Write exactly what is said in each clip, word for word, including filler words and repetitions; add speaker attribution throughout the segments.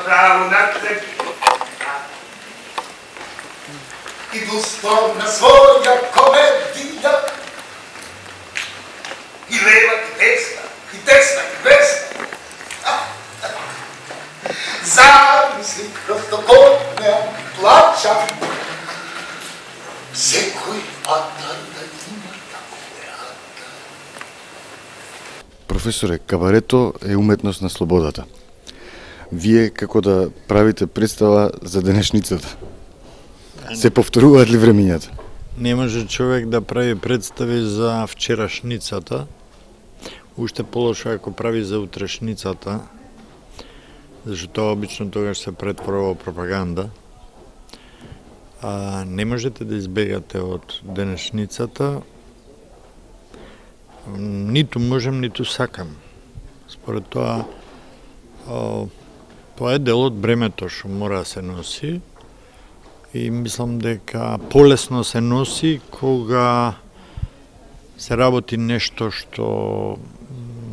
Speaker 1: право на трепи. И достойна своја комедија. И лева, и десна, и десна, и десна. Замисли, просто код ме плача. Секој атар да има таков атар.
Speaker 2: Професоре, кабарето е уметност на слободата. Вие како да правите представа за денешницата? Се повторуваат ли времињата?
Speaker 3: Не може човек да прави представи за вчерашницата, уште полошо ако прави за утрешницата, зашто тоа обично тогаш се претворува во пропаганда. А, не можете да избегате од денешницата, ниту можем, ниту сакам. Според тоа, о, тоа е дел од бремето што мора да се носи и мислам дека полесно се носи кога се работи нешто што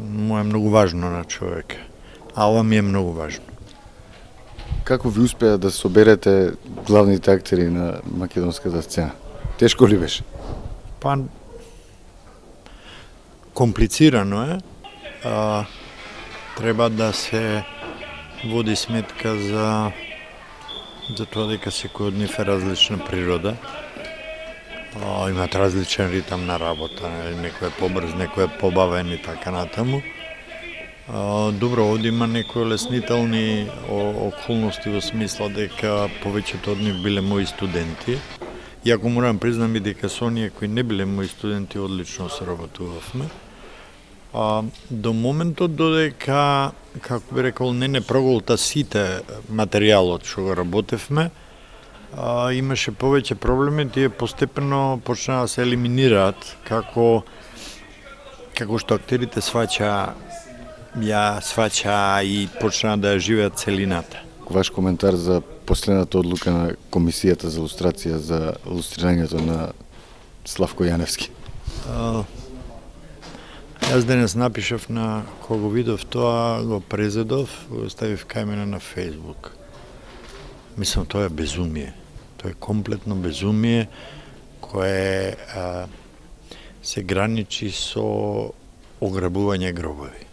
Speaker 3: му е многу важно на човек. А ова ми е многу важно.
Speaker 2: Како ви успеа да соберете главните актери на македонската сцена? Тешко ли беше?
Speaker 3: Па, комплицирано е. А, треба да се води сметка за за тоа дека секој од нив е различна природа. А, имат различен ритам на работа, некој е побрз, некој е побавен и така натаму. А, добро, овде има некои леснителни околности во смисла дека повеќето од нив биле мои студенти. Иако морам признам и дека со оние кои не биле мои студенти одлично се работувавме. А, до моментот додека, како би рекол, не не проголта сите материјалот што го работевме, а, имаше повеќе проблеми, тие постепено почнаа да се елиминираат, како како што актерите сваќа ја сваќа и почнаа да ја живеат целината.
Speaker 2: Ваш коментар за последната одлука на Комисијата за лустрација за лустрирањето на Славко Јаневски?
Speaker 3: А, Јас денес напишав на кога видов тоа, го презедов, го ставив кај мене на Фејсбук. Мислам, тоа е безумие. Тоа е комплетно безумие кое а, се граничи со ограбување гробови.